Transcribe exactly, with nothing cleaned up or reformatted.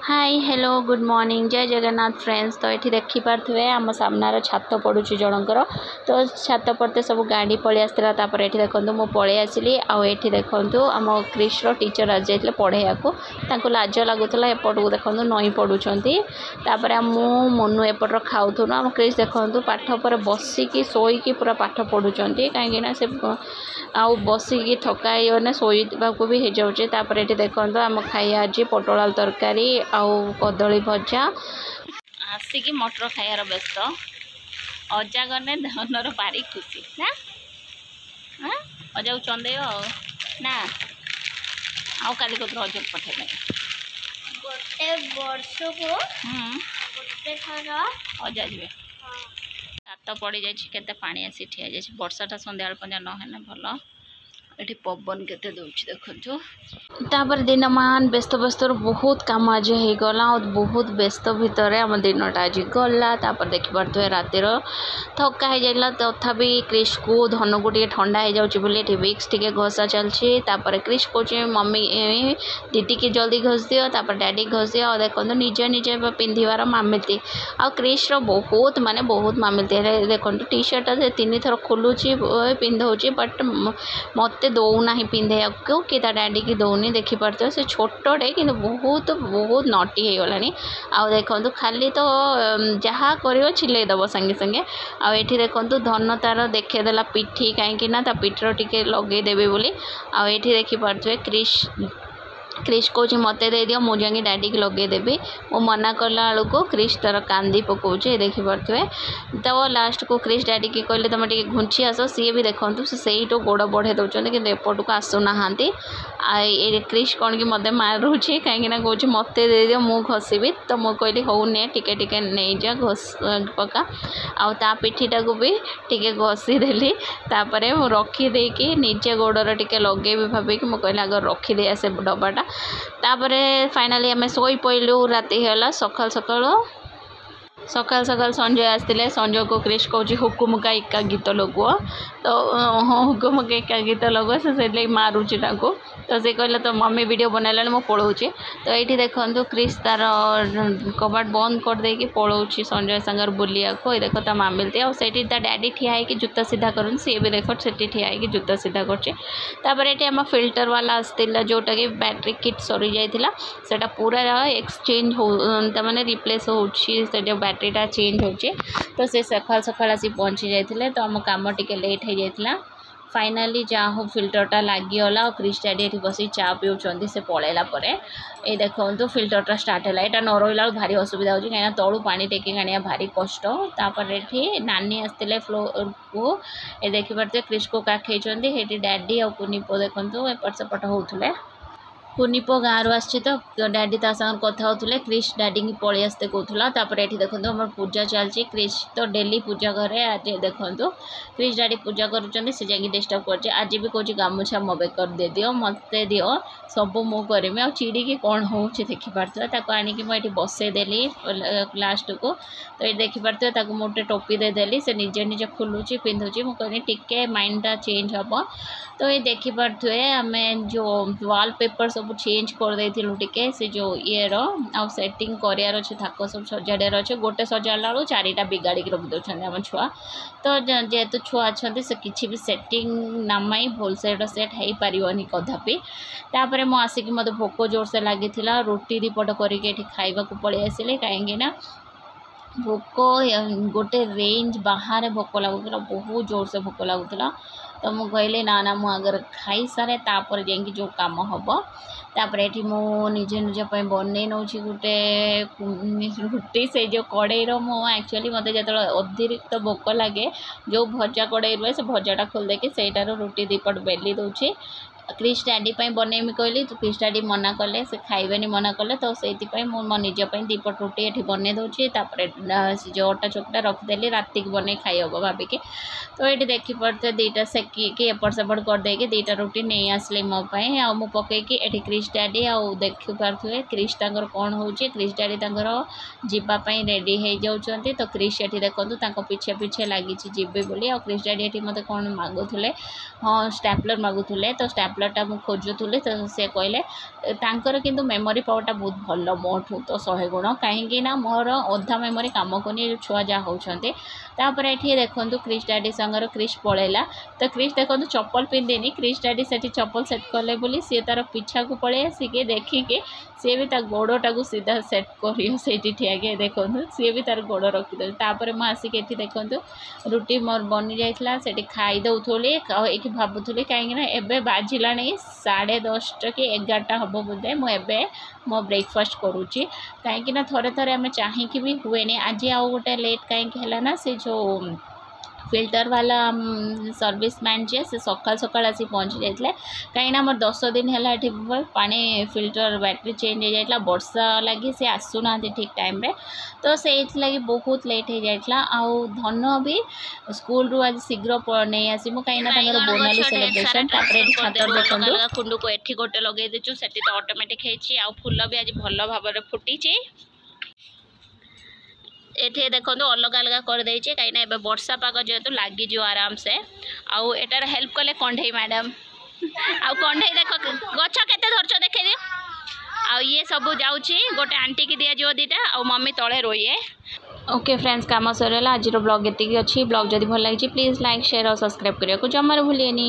high hello good morning ଜୟ Jagannath friends ତ ଏଠି ଦେଖିପାରୁଥିବେ ଆମ ସାମ୍ନାରେ ଛାତ ପଡ଼ୁଛି ଜଣଙ୍କର ତ ଛାତ ପଡ଼ତେ ସବୁ ଗାଡ଼ି ପଳେଇ ଆସିଥିଲା ତାପରେ ଏଠି ଦେଖନ୍ତୁ ମୁଁ ପଳେଇ ଆସିଲି ଆଉ ଏଠି ଦେଖନ୍ତୁ ଆମ କ୍ରିସ୍ର ଟିଚର୍ ଆସିଯାଇଥିଲେ ପଢ଼େଇବାକୁ ତାଙ୍କୁ ଲାଜ ଲାଗୁଥିଲା ଏପଟକୁ ଦେଖନ୍ତୁ ନଇଁ ପଡ଼ୁଛନ୍ତି ତାପରେ ମୁଁ ମନୁ ଏପଟର ଖାଉଥିଲୁ ଆମ କ୍ରିସ୍ ଦେଖନ୍ତୁ ପାଠ ଉପରେ ବସିକି ଶୋଇକି ପୁରା ପାଠ ପଢ଼ୁଛନ୍ତି କାହିଁକିନା ସେ ଆଉ ବସିକି ଥକା ହେଇଗଲେ ଶୋଇବାକୁ ବି ହେଇଯାଉଛି ତାପରେ ଏଠି ଦେଖନ୍ତୁ ଆମ ଖାଇବା ଆଜି ପୋଟଳ ଆଳୁ ତରକାରୀ ଆଉ କଦଳୀ ଭଜା ଆସିକି ମଟର ଖାଇବାର ବ୍ୟସ୍ତ ଅଜା ଗଲେ ଧନର ଭାରି ଖୁସି ନା ହଁ ଅଜାକୁ ଚନ୍ଦେଇବ ଆଉ ନା ଆଉ କାଲି କତୁରୁ ଅଜାକୁ ପଠେଇଦେବେ ଗୋଟେ ବର୍ଷକୁ ହୁଁ ଗୋଟେ ଥର ଅଜା ଯିବେ ଛାତ ପଡ଼ିଯାଇଛି କେତେ ପାଣି ଆସି ଠିଆ ହେଇଯାଇଛି ବର୍ଷାଟା ସନ୍ଧ୍ୟାବେଳ ପର୍ଯ୍ୟନ୍ତ ନହେଲେ ଭଲ ଏଠି ପବନ କେତେ ଦେଉଛି ଦେଖନ୍ତୁ ତାପରେ ଦିନମାନ ବ୍ୟସ୍ତ ବ୍ୟସ୍ତରୁ ବହୁତ କାମ ଆଜି ହେଇଗଲା ଆଉ ବହୁତ ବ୍ୟସ୍ତ ଭିତରେ ଆମ ଦିନଟା ଆଜି ଗଲା ତାପରେ ଦେଖିପାରୁଥିବେ ରାତିର ଥକା ହେଇଯାଇଥିଲା ତଥାପି କ୍ରିସ୍କୁ ଧନକୁ ଟିକେ ଥଣ୍ଡା ହେଇଯାଉଛି ବୋଲି ଏଠି ଭିକ୍ସ ଟିକେ ଘଷା ଚାଲିଛି ତାପରେ କ୍ରିସ୍ କହୁଛି ମମି ଦିଦିକି ଜଲ୍ଦି ଘଷି ଦିଅ ତାପରେ ଡ୍ୟାଡି ଘଷି ଦିଅ ଆଉ ଦେଖନ୍ତୁ ନିଜ ନିଜେ ପିନ୍ଧିବାର ମାମିଲତି ଆଉ କ୍ରିସ୍ର ବହୁତ ମାନେ ବହୁତ ମାମିଲତି ହେଲେ ଦେଖନ୍ତୁ ଟି ସାର୍ଟଟା ସେ ତିନିଥର ଖୋଲୁଛି ପିନ୍ଧଉଛି ବଟ୍ ମୋତେ ଦେଉନାହିଁ ପିନ୍ଧେଇବାକୁ କି ତା ଡ୍ୟାଡ଼ିକି ଦେଉନି ଦେଖିପାରୁଥିବେ ସେ ଛୋଟଟେ କିନ୍ତୁ ବହୁତ ବହୁତ ନଟି ହେଇଗଲାଣି ଆଉ ଦେଖନ୍ତୁ ଖାଲି ତ ଯାହା କରିବ ଚିଲେଇ ଦେବ ସାଙ୍ଗେ ସାଙ୍ଗେ ଆଉ ଏଠି ଦେଖନ୍ତୁ ଧନ ତାର ଦେଖେଇଦେଲା ପିଠି କାହିଁକି ନା ତା ପିଠିର ଟିକେ ଲଗେଇଦେବି ବୋଲି ଆଉ ଏଠି ଦେଖିପାରୁଥିବେ କ୍ରିସ୍ କ୍ରିସ୍ କହୁଛି ମୋତେ ଦେଇଦିଅ ମୁଁ ଯାଇକି ଡ୍ୟାଡ଼ିକି ଲଗେଇଦେବି ମୁଁ ମନା କଲା ବେଳକୁ କ୍ରିସ୍ ତାର କାନ୍ଦି ପକଉଛି ଦେଖିପାରୁଥିବେ ତ ଲାଷ୍ଟକୁ କ୍ରିସ୍ ଡ୍ୟାଡ଼ିକି କହିଲେ ତୁମେ ଟିକେ ଘୁଞ୍ଚି ଆସ ସିଏ ବି ଦେଖନ୍ତୁ ସେ ସେଇଠୁ ଗୋଡ଼ ବଢ଼େଇ ଦେଉଛନ୍ତି କିନ୍ତୁ ଏପଟକୁ ଆସୁନାହାନ୍ତି ଆଉ ଏ କ୍ରିସ୍ କ'ଣ କି ମୋତେ ମାରୁଛି କାହିଁକିନା କହୁଛି ମୋତେ ଦେଇଦିଅ ମୁଁ ଘଷିବି ତ ମୁଁ କହିଲି ହଉ ନେ ଟିକେ ଟିକେ ନେଇଯା ଘଷ ପକା ଆଉ ତା ପିଠିଟାକୁ ବି ଟିକେ ଘଷିଦେଲି ତାପରେ ମୁଁ ରଖିଦେଇକି ନିଜେ ଗୋଡ଼ରେ ଟିକେ ଲଗେଇବି ଭାବିକି ମୁଁ କହିଲି ଆଗ ରଖିଦେଇ ଆସେ ଡବାଟା ତାପରେ ଫାଇନାଲି ଆମେ ଶୋଇ ପଇଲୁ ରାତି ହେଲା ସକାଳୁ ସକାଳୁ ସକାଳୁ ସକାଳୁ ସଞ୍ଜୟ ଆସିଥିଲେ ସଞ୍ଜୟକୁ କ୍ରିସ୍ କହୁଛି ହୁକୁମୁକା ଇକା ଗୀତ ଲଗୁଅ ତ ହଁ ହୁକୁମୁକା ଇକା ଗୀତ ଲଗୁଅ ସେ ସେଇଥିଲାଗି ମାରୁଛି ତାଙ୍କୁ ତ ସେ କହିଲେ ତ ମମି ଭିଡ଼ିଓ ବନେଇଲାଣି ମୁଁ ପଳଉଛି ତ ଏଇଠି ଦେଖନ୍ତୁ କ୍ରିସ୍ ତାର କବାଟ ବନ୍ଦ କରିଦେଇକି ପଳଉଛି ସଞ୍ଜୟ ସାଙ୍ଗରେ ବୁଲିବାକୁ ଏଇ ଦେଖ ତା ମାମିଲତି ଆଉ ସେଇଠି ତା ଡ୍ୟାଡି ଠିଆ ହେଇକି ଜୁତା ସିଧା କରନ୍ତି ସିଏ ବି ଦେଖ ସେଠି ଠିଆ ହେଇକି ଜୁତା ସିଧା କରୁଛି ତାପରେ ଏଠି ଆମ ଫିଲ୍ଟର ବାଲା ଆସିଥିଲା ଯେଉଁଟାକି ବ୍ୟାଟେରୀ କିଟ୍ ସରିଯାଇଥିଲା ସେଇଟା ପୁରା ଏକ୍ସଚେଞ୍ଜ ହଉ ତାମାନେ ରିପ୍ଲେସ୍ ହେଉଛି ସେ ଯେଉଁ ବ୍ୟାଟେରୀଟା ଚେଞ୍ଜ ହେଉଛି ତ ସେ ସକାଳୁ ସକାଳୁ ଆସି ପହଞ୍ଚି ଯାଇଥିଲେ ତ ଆମ କାମ ଟିକେ ଲେଟ୍ ହେଇଯାଇଥିଲା ଫାଇନାଲି ଯାହା ହଉ ଫିଲ୍ଟରଟା ଲାଗିଗଲା ଆଉ କ୍ରିସ୍ ଡ୍ୟାଡି ଏଠି ବସିକି ଚା ପିଉଛନ୍ତି ସେ ପଳେଇଲା ପରେ ଏଇ ଦେଖନ୍ତୁ ଫିଲ୍ଟରଟା ଷ୍ଟାର୍ଟ ହେଲା ଏଇଟା ନ ରହିଲା ବେଳକୁ ଭାରି ଅସୁବିଧା ହେଉଛି କାହିଁକିନା ତଳୁ ପାଣି ଟେକିକି ଆଣିବା ଭାରି କଷ୍ଟ ତାପରେ ଏଠି ନାନୀ ଆସିଥିଲେ ଫ୍ଲୋରକୁ ଏ ଦେଖିପାରୁଥିବେ କ୍ରିସ୍କୁ କାଖେଇଛନ୍ତି ସେଇଠି ଡ୍ୟାଡି ଆଉ କୁନି ପୁଅ ଦେଖନ୍ତୁ ଏପଟ ସେପଟ ହେଉଥିଲେ କୁନି ପୁଅ ଗାଁରୁ ଆସିଛି ତ ଡ୍ୟାଡି ତା ସାଙ୍ଗରେ କଥା ହେଉଥିଲେ କ୍ରିସ୍ ଡ୍ୟାଡିଙ୍କି ପଳେଇ ଆସିତେ କହୁଥିଲା ତାପରେ ଏଠି ଦେଖନ୍ତୁ ଆମର ପୂଜା ଚାଲିଛି କ୍ରିସ୍ ତ ଡେଲି ପୂଜା କରେ ଆଜି ଦେଖନ୍ତୁ କ୍ରିସ୍ ଡ୍ୟାଡି ପୂଜା କରୁଛନ୍ତି ସେ ଯାଇକି ଡିଷ୍ଟର୍ବ କରୁଛି ଆଜି ବି କହୁଛି ଗାମୁଛା ମୋ ବେକରେ ଦେଇଦିଅ ମୋତେ ଦିଅ ସବୁ ମୁଁ କରିମି ଆଉ ଚିଡ଼ିକି କ'ଣ ହେଉଛି ଦେଖିପାରୁଥିବେ ତାକୁ ଆଣିକି ମୁଁ ଏଠି ବସେଇଦେଲି ଲାଷ୍ଟକୁ ତ ଏଠି ଦେଖିପାରୁଥିବେ ତାକୁ ମୁଁ ଗୋଟେ ଟୋପି ଦେଇଦେଲି ସେ ନିଜେ ନିଜେ ଖୋଲୁଛି ପିନ୍ଧୁଛି ମୁଁ କହିଲି ଟିକେ ମାଇଣ୍ଡଟା ଚେଞ୍ଜ ହେବ ତ ଏଇ ଦେଖିପାରୁଥିବେ ଆମେ ଯେଉଁ ୱାଲ୍ ପେପର୍ ସବୁ ଚେଞ୍ଜ କରିଦେଇଥିଲୁ ଟିକେ ସେ ଯେଉଁ ଇଏର ଆଉ ସେଟିଂ କରିବାର ଅଛି ଥାକ ସବୁ ସଜାଡ଼ିବାର ଅଛି ଗୋଟେ ସଜାଡ଼ିଲା ବେଳକୁ ଚାରିଟା ବିଗାଡ଼ିକି ରଖିଦେଉଛନ୍ତି ଆମ ଛୁଆ ତ ଯେହେତୁ ଛୁଆ ଅଛନ୍ତି ସେ କିଛି ବି ସେଟିଂ ନାମାଇ ଭଲସେ ଏଇଟା ସେଟ୍ ହେଇପାରିବନି କଦାପି ତାପରେ ମୁଁ ଆସିକି ମୋତେ ଭୋକ ଜୋରସେ ଲାଗିଥିଲା ରୁଟି ଦୁଇପଟ କରିକି ଏଠି ଖାଇବାକୁ ପଳେଇ ଆସିଲି କାହିଁକିନା ଭୋକ ଗୋଟେ ରେଞ୍ଜ ବାହାରେ ଭୋକ ଲାଗୁଥିଲା ବହୁତ ଜୋରସେ ଭୋକ ଲାଗୁଥିଲା ତ ମୁଁ କହିଲି ନା ନା ମୁଁ ଆଗରେ ଖାଇସାରେ ତାପରେ ଯାଇକି ଯେଉଁ କାମ ହେବ ତାପରେ ଏଠି ମୁଁ ନିଜେ ନିଜ ପାଇଁ ବନେଇ ନେଉଛି ଗୋଟେ ରୁଟି ସେଇ ଯେଉଁ କଡ଼େଇର ମୁଁ ଆକ୍ଚୁଆଲି ମୋତେ ଯେତେବେଳେ ଅତିରିକ୍ତ ଭୋକ ଲାଗେ ଯେଉଁ ଭଜା କଡ଼େଇ ରୁହେ ସେ ଭଜାଟା ଖୋଲିଦେଇକି ସେଇଟାରୁ ରୁଟି ଦୁଇପଟ ବେଲି ଦେଉଛି କ୍ରିସ୍ ଡ୍ୟାଡି ପାଇଁ ବନେଇମି କହିଲି କ୍ରିସ୍ ଡ୍ୟାଡି ମନା କଲେ ସେ ଖାଇବେନି ମନା କଲେ ତ ସେଇଥିପାଇଁ ମୁଁ ମୋ ନିଜ ପାଇଁ ଦୁଇପଟ ରୁଟି ଏଠି ବନେଇ ଦେଉଛି ତାପରେ ସେ ଯେଉଁ ଅଟା ଚକଟା ରଖିଦେଲି ରାତିକି ବନେଇ ଖାଇ ହେବ ଭାବିକି ତ ଏଇଠି ଦେଖିପାରୁଥିବେ ଦୁଇଟା ସେକିକି ଏପଟ ସେପଟ କରିଦେଇକି ଦୁଇଟା ରୁଟି ନେଇ ଆସିଲି ମୋ ପାଇଁ ଆଉ ମୁଁ ପକେଇକି ଏଠି କ୍ରିସ୍ ଡ୍ୟାଡି ଆଉ ଦେଖିପାରୁଥିବେ କ୍ରିସ୍ ତାଙ୍କର କ'ଣ ହେଉଛି କ୍ରିସ୍ ଡ୍ୟାଡି ତାଙ୍କର ଯିବା ପାଇଁ ରେଡ଼ି ହେଇଯାଉଛନ୍ତି ତ କ୍ରିସ୍ ଏଠି ଦେଖନ୍ତୁ ତାଙ୍କ ପିଛେ ପିଛେ ଲାଗିଛି ଯିବେ ବୋଲି ଆଉ କ୍ରିସ୍ ଡ୍ୟାଡି ଏଠି ମୋତେ କ'ଣ ମାଗୁଥିଲେ ହଁ ଷ୍ଟାପଲର୍ ମାଗୁଥିଲେ ତ ଷ୍ଟାପଲର୍ ଟ୍ୟାବଲେଟ୍ଟା ମୁଁ ଖୋଜୁଥିଲି ତ ସେ କହିଲେ ତାଙ୍କର କିନ୍ତୁ ମେମୋରି ପାୱାରଟା ବହୁତ ଭଲ ମୋଠୁ ତ ଶହେ ଗୁଣ କାହିଁକି ନା ମୋର ଅଧା ମେମୋରି କାମ କରୁନି ଏ ଛୁଆ ଯାହା ହେଉଛନ୍ତି ତାପରେ ଏଠି ଦେଖନ୍ତୁ କ୍ରିସ୍ ଡାଡ଼ି ସାଙ୍ଗରେ କ୍ରିସ୍ ପଳେଇଲା ତ କ୍ରିସ୍ ଦେଖନ୍ତୁ ଚପଲ ପିନ୍ଧିନି କ୍ରିସ୍ ଡାଡ଼ି ସେଠି ଚପଲ ସେଟ୍ କଲେ ବୋଲି ସିଏ ତାର ପିଛାକୁ ପଳେଇ ଆସିକି ଦେଖିକି ସିଏ ବି ତା ଗୋଡ଼ଟାକୁ ସିଧା ସେଟ୍ କରିବ ସେଇଠି ଠିଆକି ଦେଖନ୍ତୁ ସିଏ ବି ତାର ଗୋଡ଼ ରଖିଦେଉଛି ତାପରେ ମୁଁ ଆସିକି ଏଠି ଦେଖନ୍ତୁ ରୁଟି ମୋର ବନି ଯାଇଥିଲା ସେଠି ଖାଇ ଦେଉଥିଲି ଆଉ ଏଇଠି ଭାବୁଥିଲି କାହିଁକିନା ଏବେ ବାଜିଲାଣି ସାଢ଼େ ଦଶଟା କି ଏଗାରଟା ହେବ ବୋଧେ ମୁଁ ଏବେ ମୋ ବ୍ରେକଫାଷ୍ଟ କରୁଛି କାହିଁକିନା ଥରେ ଥରେ ଆମେ ଚାହିଁକି ବି ହୁଏନି ଆଜି ଆଉ ଗୋଟେ ଲେଟ୍ କାହିଁକି ହେଲା ନା ସେ ଯେଉଁ ଫିଲ୍ଟର ବାଲା ସର୍ଭିସ୍ ମ୍ୟାନ୍ ଯିଏ ସେ ସକାଳ ସକାଳ ଆସି ପହଞ୍ଚି ଯାଇଥିଲେ କାହିଁକିନା ଆମର ଦଶ ଦିନ ହେଲା ଏଠି ପାଣି ଫିଲ୍ଟର ବ୍ୟାଟେରୀ ଚେଞ୍ଜ ହେଇଯାଇଥିଲା ବର୍ଷା ଲାଗି ସେ ଆସୁନାହାନ୍ତି ଠିକ୍ ଟାଇମ୍ରେ ତ ସେଇଥିଲାଗି ବହୁତ ଲେଟ୍ ହେଇଯାଇଥିଲା ଆଉ ଧନ ବି ସ୍କୁଲରୁ ଆଜି ଶୀଘ୍ର ନେଇ ଆସିବୁ କାହିଁକିନା ତାଙ୍କର ବୋନାଲି ସେଲିବ୍ରେସନ୍ ତାପରେ ଏଠି ଛାତରେ ଦେଖନ୍ତୁ କୁଣ୍ଡକୁ ଏଠି ଗୋଟେ ଲଗେଇ ଦେଇଛୁ ସେଠି ତ ଅଟୋମେଟିକ୍ ହେଇଛି ଆଉ ଫୁଲ ବି ଆଜି ଭଲ ଭାବରେ ଫୁଟିଛି ଏଠି ଦେଖନ୍ତୁ ଅଲଗା ଅଲଗା କରିଦେଇଛି କାହିଁକିନା ଏବେ ବର୍ଷା ପାଗ ଯେହେତୁ ଲାଗିଯିବ ଆରାମସେ ଆଉ ଏଟାର ହେଲ୍ପ କଲେ କଣ୍ଢେଇ ମ୍ୟାଡ଼ାମ୍ ଆଉ କଣ୍ଢେଇ ଦେଖ ଗଛ କେତେ ଧରିଛ ଦେଖେଇ ଦିଅ ଆଉ ଇଏ ସବୁ ଯାଉଛି ଗୋଟେ ଆଣ୍ଟିକି ଦିଆଯିବ ଦୁଇଟା ଆଉ ମମି ତଳେ ରୋଇଏ ଓକେ ଫ୍ରେଣ୍ଡସ୍ କାମ ସରିଗଲା ଆଜିର ବ୍ଲଗ୍ ଏତିକି ଅଛି ବ୍ଲଗ୍ ଯଦି ଭଲ ଲାଗିଛି ପ୍ଲିଜ୍ ଲାଇକ୍ ସେୟାର ଆଉ ସବସ୍କ୍ରାଇବ୍ କରିବାକୁ ଜମାରୁ ଭୁଲିବେନି